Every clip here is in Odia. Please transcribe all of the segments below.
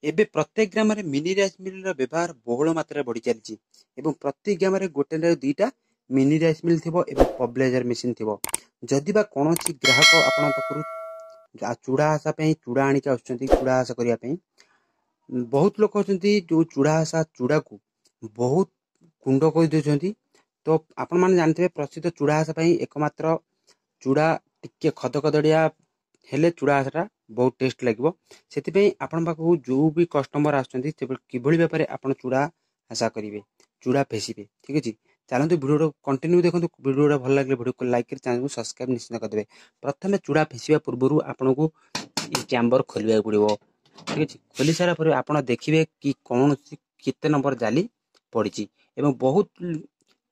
ଏବେ ପ୍ରତ୍ୟେକ ଗ୍ରାମରେ ମିନି ରାଇସ୍ ମିଲ୍ର ବ୍ୟବହାର ବହୁଳ ମାତ୍ରାରେ ବଢ଼ି ଚାଲିଛି ଏବଂ ପ୍ରତି ଗ୍ରାମରେ ଗୋଟେ 2ଟା ମିନି ରାଇସ୍ ମିଲ୍ ଥିବ ଏବଂ ପବ୍ଲାଇଜର ମେସିନ୍ ଥିବ। ଯଦି ବା କୌଣସି ଗ୍ରାହକ ଆପଣଙ୍କ ପାଖରୁ ଚୁଡ଼ା ଆଶା ପାଇଁ ଚୁଡ଼ା ଆଣିକି ଆସୁଛନ୍ତି, ଚୁଡ଼ା ଆଶା କରିବା ପାଇଁ ବହୁତ ଲୋକ ଅଛନ୍ତି ଯେଉଁ ଚୁଡ଼ା ଆଶା ଚୁଡ଼ାକୁ ବହୁତ ଗୁଣ୍ଡ କରିଦେଉଛନ୍ତି। ତ ଆପଣମାନେ ଜାଣିଥିବେ, ପ୍ରସିଦ୍ଧ ଚୁଡ଼ା ଆଶା ପାଇଁ ଏକମାତ୍ର ଚୁଡ଼ା ଟିକେ ଖଦଖଦଡ଼ିଆ ହେଲେ ଚୁଡ଼ା ଆଶାଟା ବହୁତ ଟେଷ୍ଟ ଲାଗିବ। ସେଥିପାଇଁ ଆପଣଙ୍କ ପାଖକୁ ଯେଉଁ ବି କଷ୍ଟମର ଆସୁଛନ୍ତି, କିଭଳି ଭାବରେ ଆପଣ ଚୁଡ଼ା ଆଶା କରିବେ, ଚୁଡ଼ା ଫେସିବେ, ଠିକ୍ ଅଛି? ଚାଲନ୍ତୁ, ଭିଡ଼ିଓଟା କଣ୍ଟିନ୍ୟୁ ଦେଖନ୍ତୁ। ଭିଡ଼ିଓଟା ଭଲ ଲାଗିଲେ ଭିଡ଼ିଓକୁ ଲାଇକ୍ କରି ଚ୍ୟାନେଲକୁ ସବସ୍କ୍ରାଇବ୍ ନିଶ୍ଚିତ କରିଦେବେ। ପ୍ରଥମେ ଚୁଡ଼ା ଫେସିବା ପୂର୍ବରୁ ଆପଣଙ୍କୁ ଏ ଚାମ୍ବର ଖୋଲିବାକୁ ପଡ଼ିବ, ଠିକ୍ ଅଛି? ଖୋଲି ସାରିଲା ପରେ ଆପଣ ଦେଖିବେ କି କୌଣସି କେତେ ନମ୍ବର ଜାଲି ପଡ଼ିଛି। ଏବଂ ବହୁତ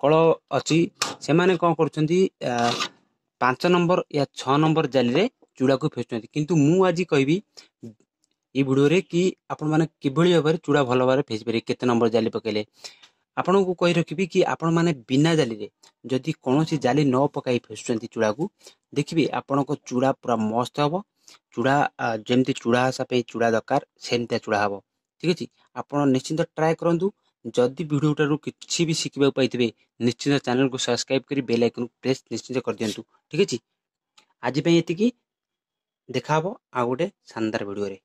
କଳ ଅଛି, ସେମାନେ କ'ଣ କରୁଛନ୍ତି, 5 ନମ୍ବର ୟା 6 ନମ୍ବର ଜାଲିରେ ଚୁଡ଼ାକୁ ଫେସୁଛନ୍ତି। କିନ୍ତୁ ମୁଁ ଆଜି କହିବି ଏଇ ଭିଡ଼ିଓରେ କି ଆପଣମାନେ କିଭଳି ଭାବରେ ଚୁଡ଼ା ଭଲ ଭାବରେ ଫେସି ପାରିବେ, କେତେ ନମ୍ବର ଜାଲି ପକାଇଲେ। ଆପଣଙ୍କୁ କହି ରଖିବି କି ଆପଣମାନେ ବିନା ଜାଲିରେ, ଯଦି କୌଣସି ଜାଲି ନ ପକାଇ ଫେସୁଛନ୍ତି ଚୁଡ଼ାକୁ, ଦେଖିବେ ଆପଣଙ୍କ ଚୁଡ଼ା ପୁରା ମସ୍ତ ହେବ। ଚୁଡ଼ା ଯେମିତି ଚୁଡ଼ା ଆଶା ପାଇଁ ଚୁଡ଼ା ଦରକାର, ସେମିତିଆ ଚୁଡ଼ା ହେବ, ଠିକ୍ ଅଛି? ଆପଣ ନିଶ୍ଚିନ୍ତ ଟ୍ରାଏ କରନ୍ତୁ। ଯଦି ଭିଡ଼ିଓଟାରୁ କିଛି ବି ଶିଖିବାକୁ ପାଇଥିବେ, ନିଶ୍ଚିନ୍ତ ଚ୍ୟାନେଲକୁ ସବସ୍କ୍ରାଇବ୍ କରି ବେଲ୍ ଆଇକନ୍ ପ୍ରେସ୍ ନିଶ୍ଚିନ୍ତ କରିଦିଅନ୍ତୁ, ଠିକ୍ ଅଛି? ଆଜି ପାଇଁ ଏତିକି, ଦେଖା ହେବ ଆଉ ଗୋଟେ ଶାନଦାର ଭିଡ଼ିଓରେ।